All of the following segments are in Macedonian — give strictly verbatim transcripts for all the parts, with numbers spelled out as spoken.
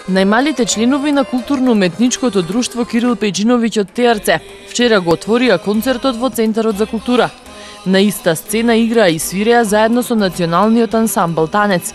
Најмалите членови на културно-уметничкото друштво Кирил Пејчиновиќ од Теарце вчера го отворија концертот во Центарот за култура. На иста сцена играа и свиреа заедно со националниот ансамбл Танец.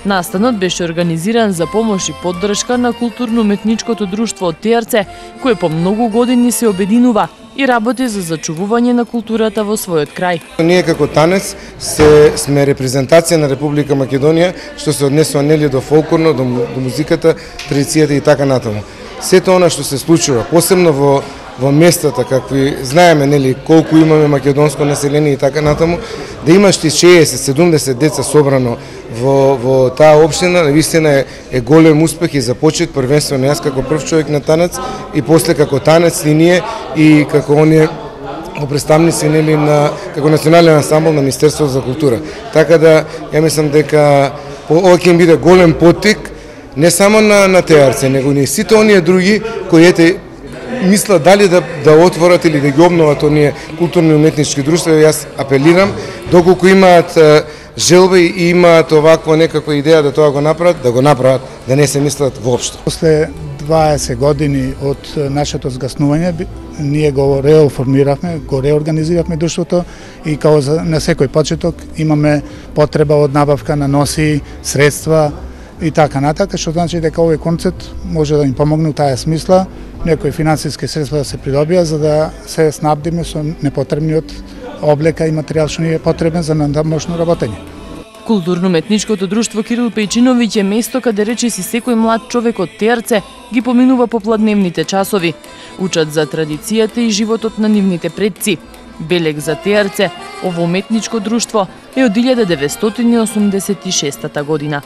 Настанот беше организиран за помош и поддршка на културно-уметничкото друштво од Теарце, кое по многу години се обединува и работи за зачувување на културата во својот крај. Ние како Танец се, сме репрезентација на Република Македонија, што се однесува нели до фолклорно, до, до музиката, традицијата и така натаму. Сето она што се случува, посебно во во местата какви знаеме нели колку имаме македонско население и така натаму, да имаш ти шеесет седумдесет деца собрано во во таа општина, навистина е, е голем успех и за почет првенствено јас како прв човек на Танец и после како Танец и ние и како оние представници нели на како национален ансамбл на Министерството за култура. Така да ја мислам дека ова ќе биде голем поттик не само на на Теарце, него и сите оние други кои ете мисла дали да да отворат или да ги обноват оние културни уметнички друштва. Јас апелирам доколку имаат желба и имаат оваква некаква идеја да тоа го направат, да го направат, да не се мислат воопшто. После дваесет години од нашето згаснување ние го реоформиравме, го реорганизиравме друштвото и као на секој почеток имаме потреба од набавка на носи, средства и така натака, што значи дека овој концерт може да им помогне у таа смисла, некои финансиски средства да се придобија за да се снабдиме со непотребниот облека и материјал што ни е потребен за надамошно работење. Културно-уметничкото друштво Кирил Пејчиновиќ е место каде речиси секој млад човек од Теарце ги поминува попладневните часови. Учат за традицијата и животот на нивните предци. Белег за Теарце, ово уметничко друштво е од илјада деветстотини осумдесет и шеста година.